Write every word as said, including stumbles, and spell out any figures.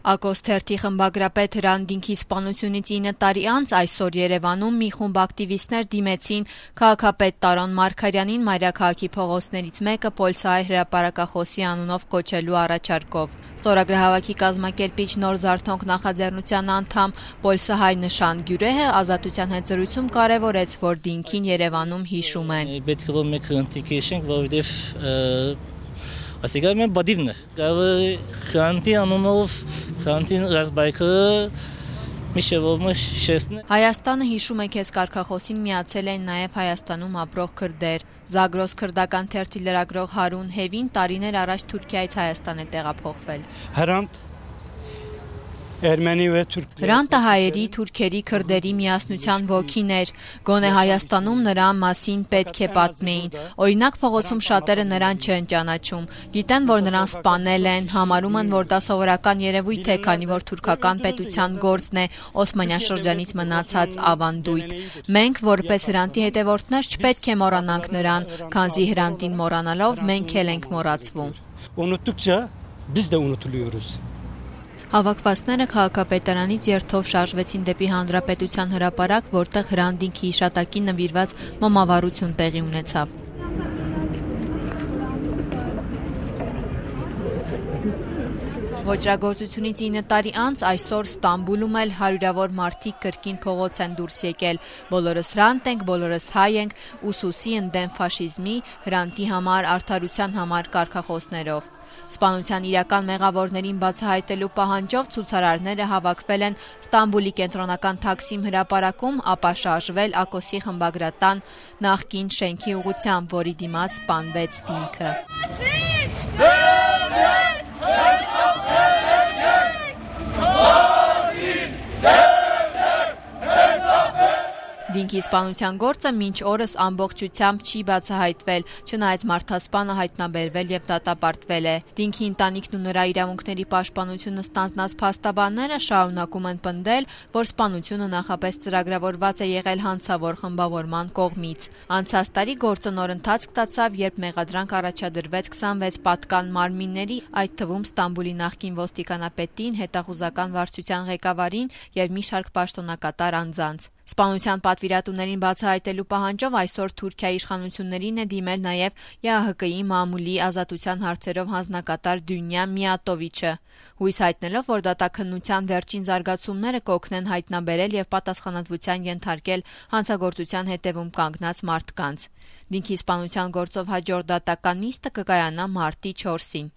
Ակոս թերթի խմբագրապետ Հրանտ Դինքի սպանությունից ինը տարի անց այսօր Երևանում մի խումբ ակտիվիստներ դիմեցին քաղաքապետ Տարոն Մարգարյանին մայրաքաղաքի փողոցներից մեկը Պոլսահայ հրապարակախոսի անունով կոչելու առաջարկով։ Ստորագրահավաքի կազմակերպիչ Նոր Զարթոնք նախաձեռնության անդամ Պոլսահայ Նշան Գյուրեհը Ազատության հետ զրույցում կարևորեց, որ Դինքին Երևանում հիշում են։ Պետք է որ մենք հնտիկեշենք, որովհետև Ասիկա մեն բադիվն է, գավը խանտի անունով խանտին ռազմայքը միշևով շեսն է։ Հայաստանը հիշում է քեզ կարգախոսին միացել են նաև Հայաստանում ապրող քրդեր։ Զագրոս քրդական թերթի լրագրող Հարուն Հևին տարիներ առաջ Թուրքիայից Հայաստան է տեղափոխվել։ Հրանտ Հրանտը հայերի, թուրքերի, քրդերի միասնության ոգին էր, գոնե Հայաստանում նրան մասին պետք է պատմեին, օրինակ փողոցում շատերը նրան չեն ճանաչում, գիտեն, որ նրան սպանել են, համարում են, որ դա սովորական երևույթ է, քանի որ թուրքական պետության գործն է Օսմանյան շրջանից մնացած ավանդույթ։ Մենք, որպես Հրանտի հետևորդներ, չպետք է մոռանանք նրան, քանզի Հրանտին մոռանալով մենք էլ ենք մոռացվում։ Unuttukça biz de unutuluyoruz. Հավաքվածները քաղաքապետարանից երթով շարժվեցին դեպի Հանրապետության հրապարակ, որտեղ Հրանտ Դինքի հիշատակին նվիրված մոմավառություն տեղի ունեցավ։ Ոճրագործությունից ինը տարի անց այսօր Ստամբուլում էլ հարյուրավոր մարդիկ կրկին փողոց են դուրս եկել։ Բոլորս Հրանտ ենք, բոլորս հայ ենք, ուսուսի ընդդեմ ֆաշիզմի, Հրանտի համար, արդարության համար կարգախոսներով։ Սպանության իրական մեղավորներին բացահայտելու պահանջով ցուցարարները հավաքվել են Ստամբուլի կենտրոնական Թաքսիմ հրապարակում, ապա շարժվել Ակոսի խմբագրատան նախկին շենքի ուղղությամբ, որի դիմաց սպանվեց Դինքը։ Դինքի սպանության գործը մինչ օրս ամբողջությամբ չի բացահայտվել, չնայած մարդասպանը հայտնաբերվել եւ դատապարտվել է։ Դինքի ընտանիքն ու նրա իրավունքների պաշտպանությունը ստանձնած փաստաբանները շարունակում են պնդել, որ սպանությունը նախապես ծրագրավորված է եղել հանցավոր խմբավորման կողմից։ Անցած տարի գործը նոր ընթացք ստացավ, երբ մեղադրանք առաջադրվեց քսանվեց պատկան մարմինների, այդ թվում Ստամբուլի նախկին ոստիկանապետին, հետախուզական վարչության ղեկավարին եւ մի շարք պաշտոնակատար անձանց։ Սպանության պատվիրատուներին բացահայտելու պահանջով այսօր Թուրքիայի իշխանություններին է դիմել նաև ԵԱՀԿ-ի մամուլի ազատության հարցերով հանձնակատար Դյունյա Միատովիչը, հույս հայտնելով, որ դատաքննության վերջին զարգացումները կօգնեն հայտնաբերել եւ պատասխանատվության ենթարկել հանցագործության հետևում կանգնած մարդկանց։ Դինքի սպանության գործով հաջորդ դատական նիստը կկայանա մարտի չորսին։